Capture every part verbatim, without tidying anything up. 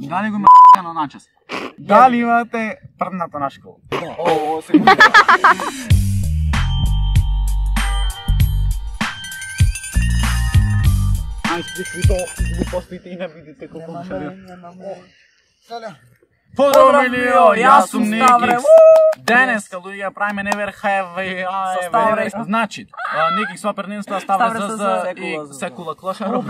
Дали го има на начас? Дали имате првната на школа? О, секунда. Ај, спричи то, глупостите и не видите колко го шарија. Поздраво, милио, јас сум Никикс. Денеска, луѓе, правиме Never Have I. Значи, Никикс во преднинство ставре ЗЗ и секула клашаров.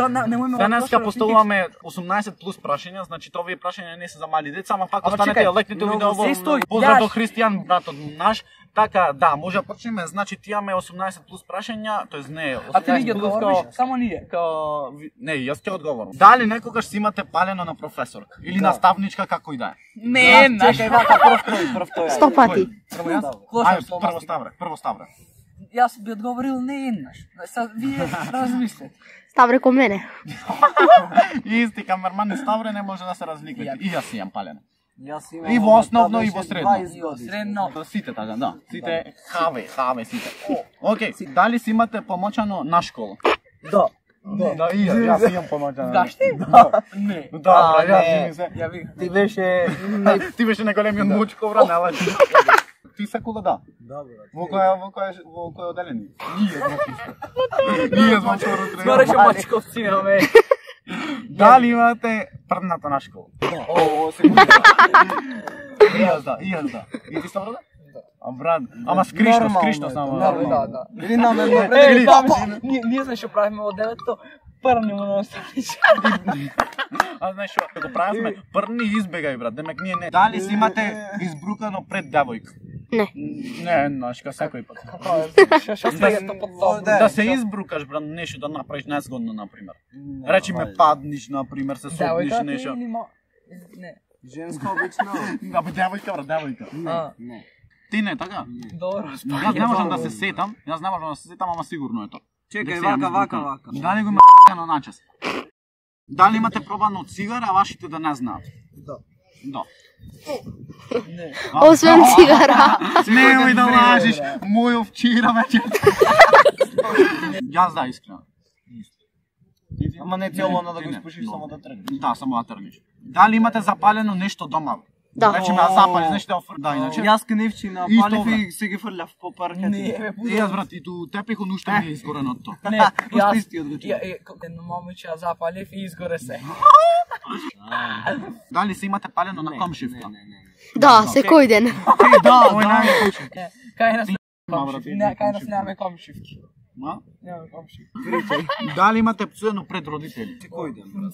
Денеска поставуваме осумнаесет плюс прашања, значи овие прашања не се за мали деца, ама пак останете лекните видео во поздрав до Христијан, братот наш. Така, да, може да почнеме, значи ти имаме осумнаесет плюс прашања, тоест не, а ти ги одговориш, само ние. Као не, јас ќе одговорам. Дали некогаш си имате палено на професорка или наставничка како и да е? Не, чекај вака прв тој, прв тој. Сто пати. Прво Ставре, прво Ставре. Јас би одговорил не еднаш. Сад вие размислете. Ставре ко мене. Исти камерман и Ставре не може да се разликат. И јас имам палено. И во основно и во средно. Средно. Сите така, да. Сите хаве, хаве сите. Океј, дали си имате помочано на школа? Да. Да, и јас имам помочано. Гашти? Да. Не. Да, јас ми се. Ја ви, ти беше ти беше наголемиот мучко вра, не лажи. Ти секула да? Да, брат. Во која во која во кој оделени? Ние сме чисто. Ние сме второ трето. Скореше мачковци имаме. Дали имате првната на школа? О, секунда. И јас да, и јас да. И ти Ставро да? А брат, ама скришно, скришно само. Да, да, да. Или на мене. Или ние ние знаеш што правиме во девето, прни му на останича. А знаеш што, го правиме, прни избегај брат, демек ние не. Дали си имате избрукано пред девојка? Не. Не, знаеш, ка секој пат. Што се тоа под Да се избрукаш брат, нешто да направиш незгодно на пример. Речи ме падниш на пример, се сопниш нешто. Не. Женско обично. Да, бе девојка брат, девојка. Не. Ти не така? Добро, Јас не можам да се сетам, јас не можам да се сетам, ама сигурно е тоа. Чекај, вака, вака, вака. Дали го има на начас? Дали имате пробано цигара, а вашите да не знаат? Да. Да. Не. Освен цигара. Немој да лажиш, мој овчира вечер. Јас да, искрено. Ама не цело да го спушиш, само да тргнеш. Да, само да тргнеш. Дали имате запалено нешто дома? Да. Речи ме да запалиш нешто да офр... Да, иначе. Јас кневчи на палив и се ги фрлав по паркет. Не, бе, И јас брат, и ту тепиху нушто ми е изгорено од тоа. Не, јас истиот го чув. Едно момиче ја запалив и изгоре се. Дали се имате палено на комшивка? Да, секој ден. Да, мој најлучи. Кај нас не, кај нас немаме комшивки. Ма? Немаме комшивки. Дали имате пцуено пред родители? Секој ден.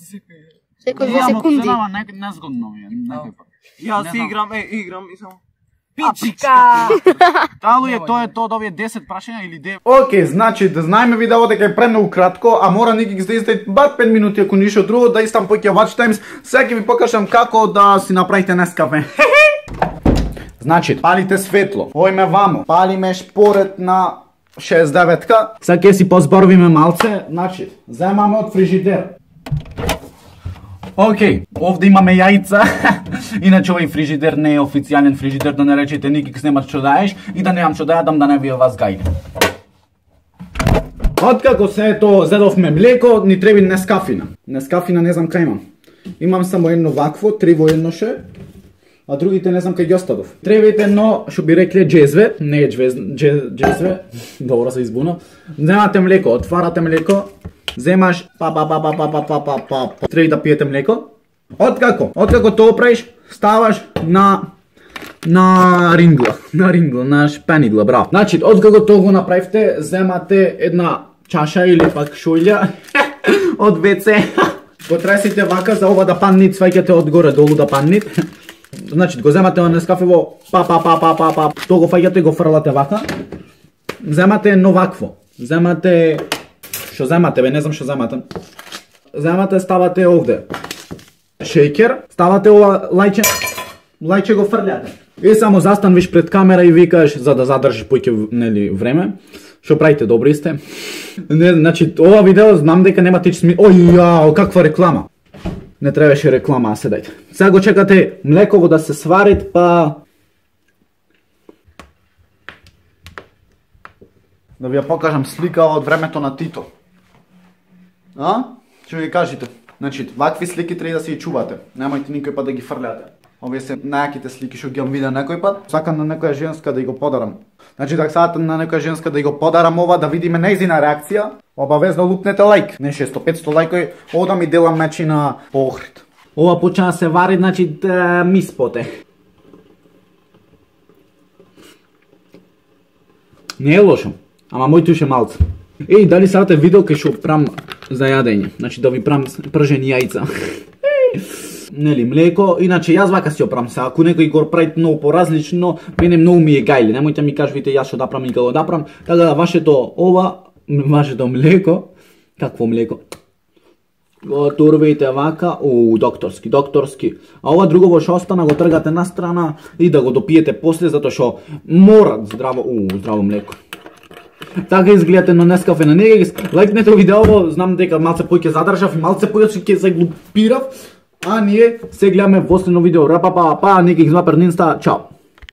Секој две секунди. Ама незгодно ми е, некој пат. Јас играм, е, играм и само. Пичка! Дали е тоа е тоа да овие десет прашања или девет? Океј, значи да знаеме видео дека е премногу кратко, а мора Никикс да издаде бар пет минути ако ништо друго, да истам поќе watch times. Сега ќе ви покажам како да си направите Нескафе. Значи, палите светло, ојме вамо, палиме шпоред на шеесет и деветка. Сега ќе си позборвиме малце, значи, земаме од фрижидер. Океј, овде имаме јајца. Иначе овој фрижидер не е официјален фрижидер, да не речете Никикс немаш што да јаеш и да немам што да јадам, да не ви вас гајде. Откако се ето зедовме млеко, ни треби Нескафина. Нескафина не знам кај имам. Имам само едно вакво, три во едноше, а другите не знам кај ги оставив. Требите едно, што би рекле джезве, не е джезве, добро се избуна. Земате млеко, отварате млеко, земаш па па па па па па па па па па треби да пиете млеко. Откако? Откако тоа правиш, ставаш на на рингла, на рингла, на шпенигла, браво. Значи, откако тоа го направивте, земате една чаша или пак шулја од вце. Го тресите вака за ова да паднит, сваќате одгоре долу да паднит. Значи, го земате на Нескафе во па па па па па па, тоа го фаќате, го фрлате вака. Земате едно вакво. Земате што земате, бе, не знам што земате. Земате, ставате овде шејкер, ставате ова лајче, лајче го фрљате. И само застанвиш пред камера и викаш за да задржиш поќе нели време. Што правите, добри сте? Не, значи ова видео знам дека нема тич сми. Ој јао, каква реклама. Не требаше реклама, а седајте. Сега го чекате млеково да се сварит, па да ви ја покажам слика од времето на Тито. А? Што ви кажете? Значи, вакви слики треба да се и чувате. Немојте никој пат да ги фрляте. Овие се најаките слики што ги јам видео некој пат. Сакам на некоја женска да ја го подарам. Значи, да сакате на некоја женска да ја го подарам ова, да видиме нејзина реакција, обавезно лупнете лайк. Не шесто петсто лајкови, ода ми делам мечи на Охрид. Ова почна да се вари, значи, да ми споте. Не е лошо, ама мој туше малце. Еј, дали сакате видео кај што прам за јадење? Значи да ви прам пржени јајца. Нели, млеко, иначе јас вака си опрам се, ако некој го прави многу поразлично, мене многу ми е гајле, немојте ми кажувате јас што да прам и како да прам, така да вашето ова, вашето млеко, какво млеко? Го турвите вака, у докторски, докторски. А ова друго што остана го тргате на страна и да го допиете после затоа што мора здраво, у здраво млеко. Така изгледате на Нескафе на Негекс. Лајкнете видеово, знам дека малце пој ќе задржав и малце пој ќе се глупирав. А ние се гледаме во следно видео. Рапа па па, Негекс два Пернинста. Чао.